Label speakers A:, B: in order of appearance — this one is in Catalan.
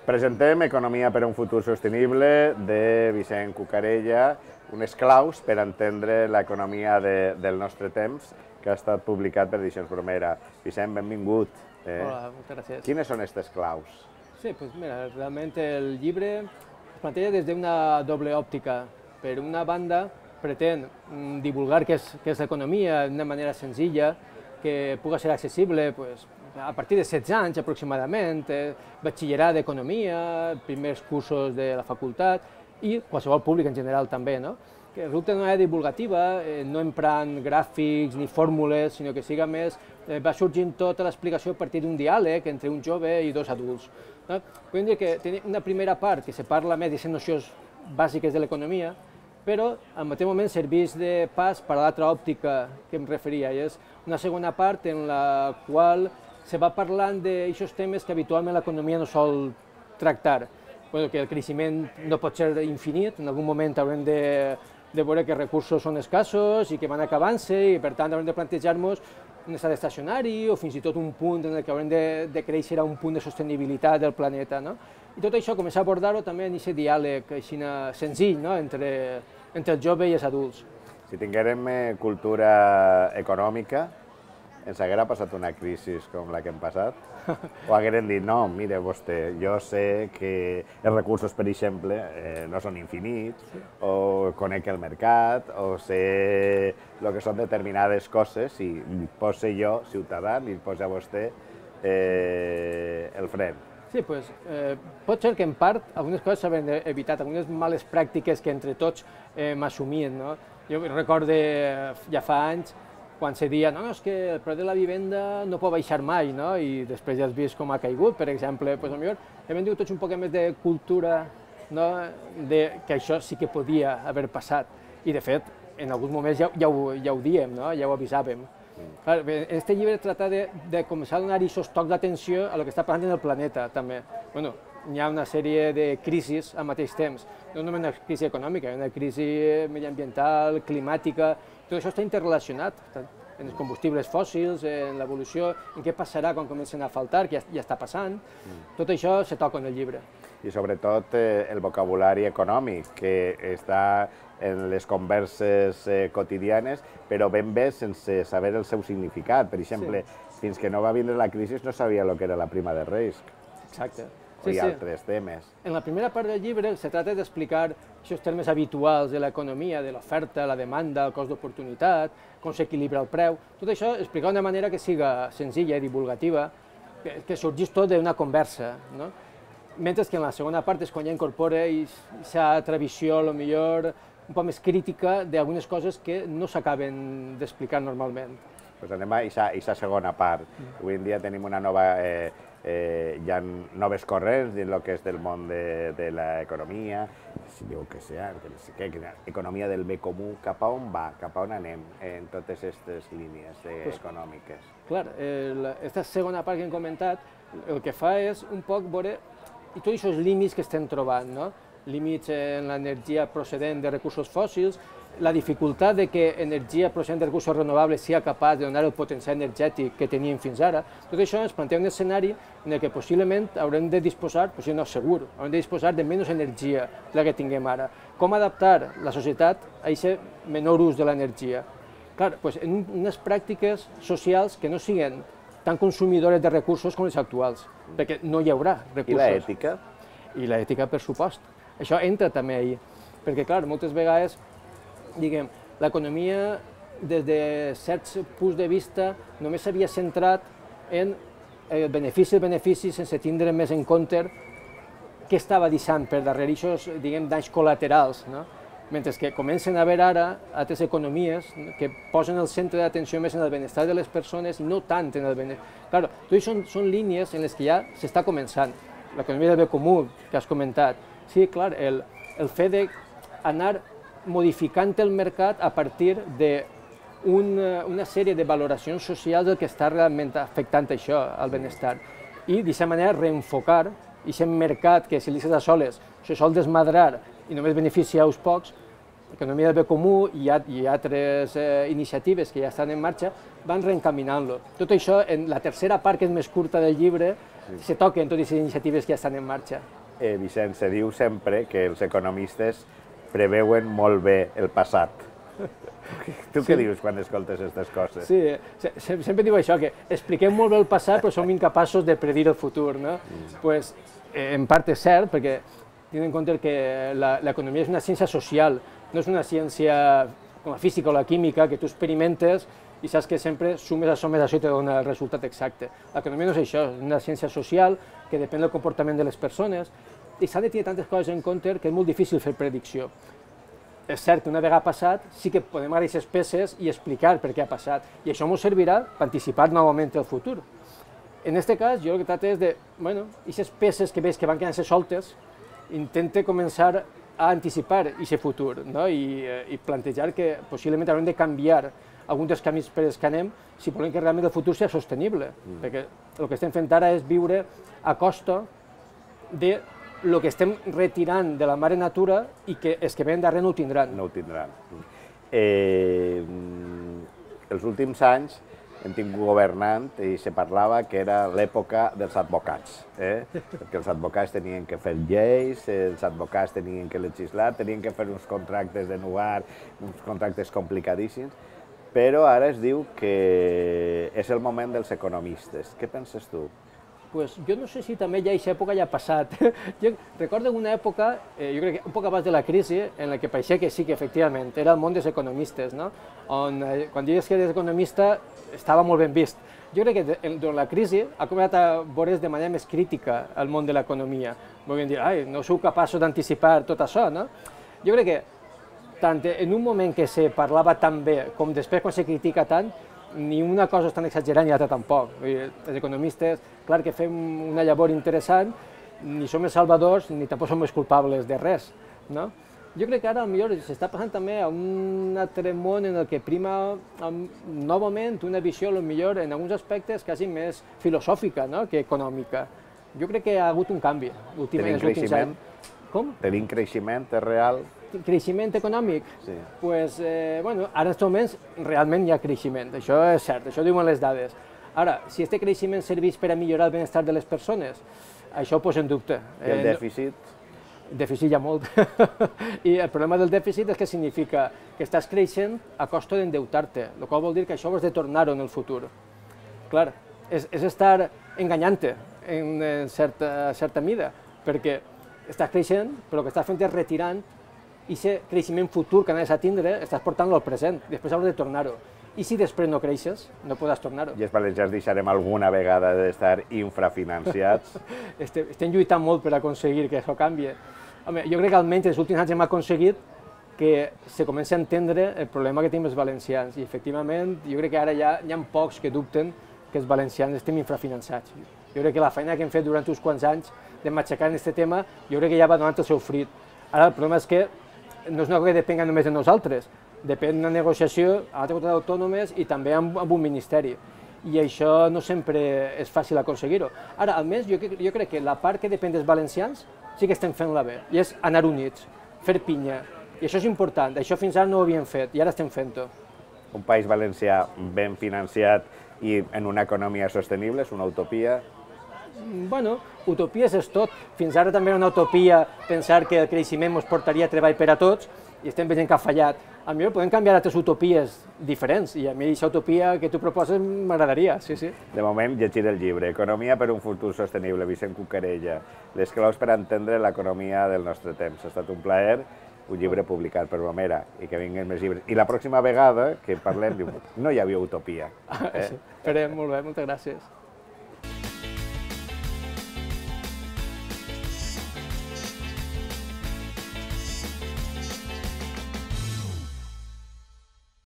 A: Presentem Economia per a un futur sostenible de Vicent Cucarella, unes claus per entendre l'economia del nostre temps, que ha estat publicat per Edicions Bromera. Vicent, benvingut.
B: Hola, moltes gràcies.
A: Quines són aquestes claus?
B: Sí, pues mira, realmente el llibre es planteja des d'una doble òptica. Per una banda, pretén divulgar què és l'economia d'una manera senzilla, que pugui ser accessible pues, a partir de 16 anys aproximadament, batxillerat d'economia, primers cursos de la facultat i qualsevol públic en general també, no? Que resulta d'una manera divulgativa, no emprant gràfics ni fórmules, sinó que siga més, va sorgint tota l'explicació a partir d'un diàleg entre un jove i dos adults. No? Podem dir que té una primera part que se parla més de nocions bàsiques de l'economia, però al mateix moment serveix de pas per a l'altra òptica que em referia, i és una segona part en la qual se va parlant d'aquests temes que habitualment l'economia no sol tractar. Bueno, que el creixement no pot ser infinit, en algun moment haurem de veure que els recursos són escassos i que van acabant-se i per tant haurem de plantejar-nos un estat estacionari o fins i tot un punt en què haurem de créixer a un punt de sostenibilitat del planeta. No? I tot això començar a abordar-ho també en aquest diàleg així senzill, no? entre el jove i els adults.
A: Si tinguérem cultura econòmica, ens haguera passat una crisi com la que hem passat? O hagueren dit, no, mire vostè, jo sé que els recursos, per exemple, no són infinits, o conec el mercat, o sé el que són determinades coses, i li poso jo, ciutadà, li poso a vostè el fren.
B: Sí, doncs pot ser que en part algunes coses s'havien evitat, algunes males pràctiques que entre tots m'assumien. Jo recordo ja fa anys quan se deia no, és que el preu de la vivenda no pot baixar mai, i després ja has vist com ha caigut, per exemple, potser hem dit tots un poc més de cultura, que això sí que podia haver passat, i de fet, en alguns moments ja ho diem, ja ho avisàvem. Aquest llibre tracta de començar a donar aquests tocs d'atenció a el que està passant en el planeta, també. Hi ha una sèrie de crisis al mateix temps, no només una crisi econòmica, una crisi mediambiental, climàtica, tot això està interrelacionat en els combustibles fòssils, en l'evolució, en què passarà quan comencen a faltar, que ja està passant, tot això se toca en el llibre.
A: I sobretot el vocabulari econòmic, que està en les converses quotidianes, però ben bé sense saber el seu significat. Per exemple, fins que no va vindre la crisi no sabia el que era la prima de risc.
B: Exacte.
A: I altres temes.
B: En la primera part del llibre se tracta d'explicar aquests termes habituals de l'economia, de l'oferta, la demanda, el cost d'oportunitat, com s'equilibra el preu, tot això explicar d'una manera que siga senzilla i divulgativa, que sorgís tot d'una conversa. Mentre que en la segona part és quan ja incorpora aquesta visió, potser un poc més crítica d'algunes coses que no s'acaben d'explicar normalment.
A: Doncs anem a aquesta segona part. Avui en dia tenim una nova... hi ha noves corrents dins el que és del món de l'economia, si diu que sea, economia del bé comú, cap a on va, cap a on anem en totes aquestes línies econòmiques?
B: Clar, aquesta segona part que hem comentat, el que fa és un poc veure tots aquests límits que estem trobant, límits en l'energia procedent de recursos fòssils, la dificultat de que energia procedent de recursos renovables sigui capaç de donar el potencial energètic que teníem fins ara, tot això ens planteja un escenari en què possiblement haurem de disposar, potser no segur, haurem de disposar de menys energia de la que tinguem ara. Com adaptar la societat a aquest menor ús de l'energia? Clar, en unes pràctiques socials que no siguin tan consumidores de recursos com les actuals, perquè no hi haurà recursos.
A: I l'ètica?
B: I l'ètica, per supost. Això entra també ahí, perquè clar, moltes vegades diguem, l'economia, des de certs punts de vista, només s'havia centrat en el benefici sense tindre més en compte què estava deixant per darrere aquests, diguem, danys col·laterals, mentre que comencen a haver ara altres economies que posen el centre d'atenció més en el benestar de les persones i no tant en el benestar. Clar, tot això són línies en les que ja s'està començant. L'economia del bé comú, que has comentat. Sí, clar, el fet d'anar modificant el mercat a partir d'una sèrie de valoracions socials del que està realment afectant això, el benestar. I d'aquesta manera reenfocar aquest mercat que si li a soles se sol desmadrar i només beneficia uns pocs, l'economia del bé comú i altres iniciatives que ja estan en marxa van reencaminant-lo. Tot això, en la tercera part, que és més curta del llibre, se toquen totes les iniciatives que ja estan en marxa.
A: Vicent, se diu sempre que els economistes preveuen molt bé el passat. Tu què dius quan escoltes aquestes coses?
B: Sí, sempre diu això, que expliquem molt bé el passat però som incapaços de predir el futur, no? Pues, en part és cert, perquè tenint en compte que l'economia és una ciència social, no és una ciència com la física o la química, que tu experimentes i saps que sempre sumes a això i te dona el resultat exacte. L'economia no és això, és una ciència social que depèn del comportament de les persones i s'han de tenir tantes coses en compte que és molt difícil fer predicció. És cert que una vegada passat sí que podem agafar aquestes peces i explicar per què ha passat, i això ens servirà per anticipar novament el futur. En aquest cas, jo el que trato és de, bueno, aquestes peces que veig que van quedant-se soltes, intente començar a anticipar aquest futur, no? I plantejar que possiblement haurem de canviar alguns dels camins per els que anem si volem que realment el futur sigui sostenible, perquè el que estem fent ara és viure a costa de el que estem retirant de la mare natura i que els que venen darrere no ho tindran.
A: No ho tindran. Els últims anys hem tingut governant i se parlava que era l'època dels advocats, perquè els advocats tenien que fer lleis, els advocats tenien que legislar, tenien que fer uns contractes de nuar, uns contractes complicadíssims, però ara es diu que és el moment dels economistes. Què penses tu?
B: Pues jo no sé si també ja aquesta època ja ha passat. Jo recordo una època, jo crec que un poc abans de la crisi, en la que pareixia que sí, que efectivament era el món dels economistes, no? On quan dius que eres economista estava molt ben vist. Jo crec que durant la crisi ha començat a veure's de manera més crítica el món de l'economia. Volien dir, ai, no sou capaços d'anticipar tot això, no? Jo crec que tant en un moment que se parlava tan bé com després quan se critica tant, ni una cosa és tan exagerant ni l'altra tampoc. Els economistes, clar que fem una llavor interessant, ni som els salvadors ni tampoc som els culpables de res, no? Jo crec que ara potser s'està passant també a un altre món en el que prima novament una visió potser en alguns aspectes quasi més filosòfica, no?, que econòmica. Jo crec que ha hagut un canvi últimament.
A: Tenim creixement?
B: Com?
A: Tenim creixement, és real?
B: Creixement econòmic?
A: Sí.
B: Pues, bueno, ara en aquests moments realment hi ha creixement, això és cert, això ho diuen les dades. Ara, si aquest creixement serveix per a millorar el benestar de les persones, això ho poso en dubte.
A: I el dèficit?
B: Dèficit hi ha molt. I el problema del dèficit és que significa que estàs creixent a costa d'endeutar-te, el qual vol dir que això ho has de tornar-ho en el futur. Clar, és estar enganyant-te en certa mida, perquè estàs creixent, però el que estàs fent és retirant i aquest creixement futur que anaves a tindre, estàs portant-lo al present, després hauràs de tornar-ho. I si després no creixes, no podràs tornar-ho.
A: I els valencians deixarem alguna vegada d'estar infrafinanciats?
B: Estem lluitant molt per aconseguir que això canvi. Home, jo crec que almenys els últims anys hem aconseguit que se comenci a entendre el problema que tenim els valencians. I efectivament, jo crec que ara ja hi ha pocs que dubten que els valencians estem infrafinançats. Jo crec que la feina que hem fet durant uns quants anys de matxacar en aquest tema, jo crec que ja va donant el seu fruit. Ara el problema és que no és una cosa que depenga només de nosaltres, depèn d'una negociació amb altres comunitats autònomes i també amb un ministeri. I això no sempre és fàcil aconseguir-ho. Ara, almenys, jo crec que la part que depèn dels valencians sí que estem fent-la bé, i és anar units, fer pinya. I això és important, això fins ara no ho havíem fet, i ara estem fent-ho.
A: Un país valencià ben financiat i en una economia sostenible és una utopia?
B: Bueno, utopies és tot. Fins ara també era una utopia pensar que el creixement ens portaria treball per a tots i estem veient que ha fallat. A mi podem canviar altres utopies diferents i a mi aquesta utopia que tu proposes m'agradaria, sí, sí.
A: De moment, llegir el llibre Economia per un futur sostenible, Vicent Cucarella, les claus per entendre l'economia del nostre temps. Ha estat un plaer, un llibre publicat per Bromera i que vinguin més llibres. I la pròxima vegada que parlem, no hi havia utopia.
B: Sí, esperem, molt bé, moltes gràcies.